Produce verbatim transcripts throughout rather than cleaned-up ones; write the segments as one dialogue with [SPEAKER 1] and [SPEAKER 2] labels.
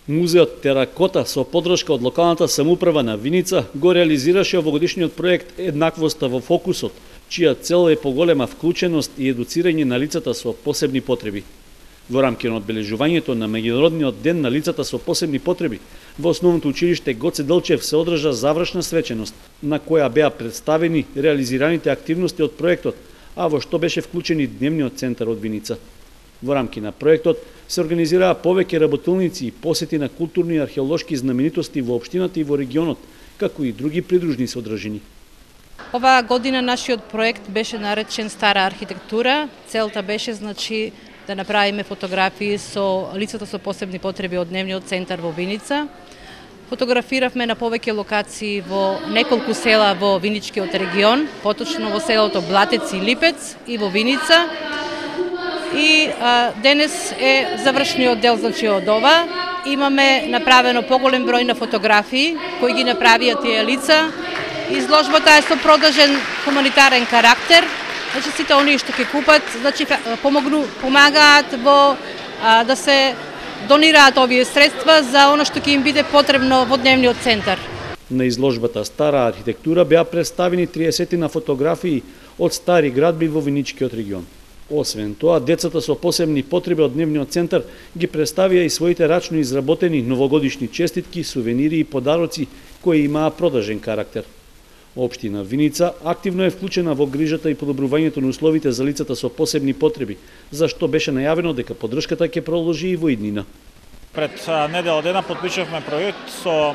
[SPEAKER 1] Музеот Теракота со поддршка од локалната самоуправа на Виница го реализираше овогодишниот проект Еднаквоста во фокусот, чија цел е поголема вклученост и едуцирање на лицата со посебни потреби. Во рамки на одбележувањето на меѓународниот ден на лицата со посебни потреби, во основното училиште Гоце Делчев се одржа завршна свеченост, на која беа представени реализираните активности од проектот, а во што беше вклучен и дневниот центар од Виница. Во рамки на проектот се организираа повеќе работилници и посети на културни и археолошки знаменитости во општината и во регионот, како и други придружни содржини.
[SPEAKER 2] Оваа година нашиот проект беше наречен Стара архитектура. Целта беше значи да направиме фотографии со лицата со посебни потреби од дневниот центар во Виница. Фотографиравме на повеќе локации во неколку села во Виничкиот регион, поточно во селото Блатец и Липец и во Виница. И а, денес е завршниот дел значи од ова. Имаме направено поголем број на фотографии кои ги направија тие лица. Изложбата е со продолжен хуманитарен карактер. Значи сите оние што ќе купат, значи помогну, помагаат во а, да се донираат овие средства за она што ќе им биде потребно во дневниот центар.
[SPEAKER 1] На изложбата Стара архитектура беа представени триесет на фотографии од стари градби во Виничкиот регион. Освен тоа, децата со посебни потреби од дневниот центар ги представија и своите рачно изработени новогодишни честитки, сувенири и подароци кои имаа продолжен карактер. Општина Виница активно е вклучена во грижата и подобрувањето на условите за лицата со посебни потреби, за што беше најавено дека поддршката ќе продолжи и во иднина.
[SPEAKER 3] Пред недела дена подпишавме проект со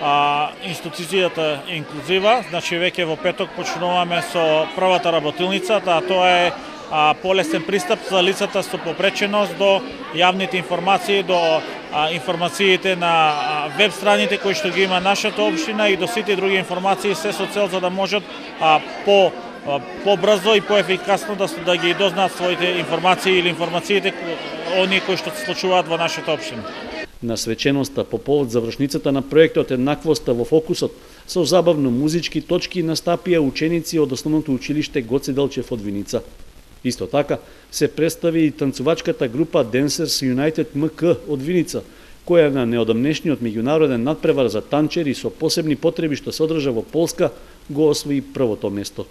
[SPEAKER 3] а, институцијата Инклузива, значи веќе во петок почнуваме со првата работилница, а тоа е а, полесен пристап за лицата со попреченост до јавните информации, до а, информациите на а, веб страните кои што ги има нашата општина и до сите други информации, се со цел за да можат а, по а, побрзо и поефикасно да да ги дознаат своите информации или информациите оние кои што се случуваат во нашата општина.
[SPEAKER 1] На свеченоста по повод завршницата на проектот Еднаквоста во фокусот со забавно музички точки настапија ученици од основното училиште Гоце Делчев од Виница. Исто така се представи и танцувачката група Dancers United ем ка од Виница, која на неодамнешниот меѓународен надпревар за танчери со посебни потреби што се одржа во Полска го освои првото место.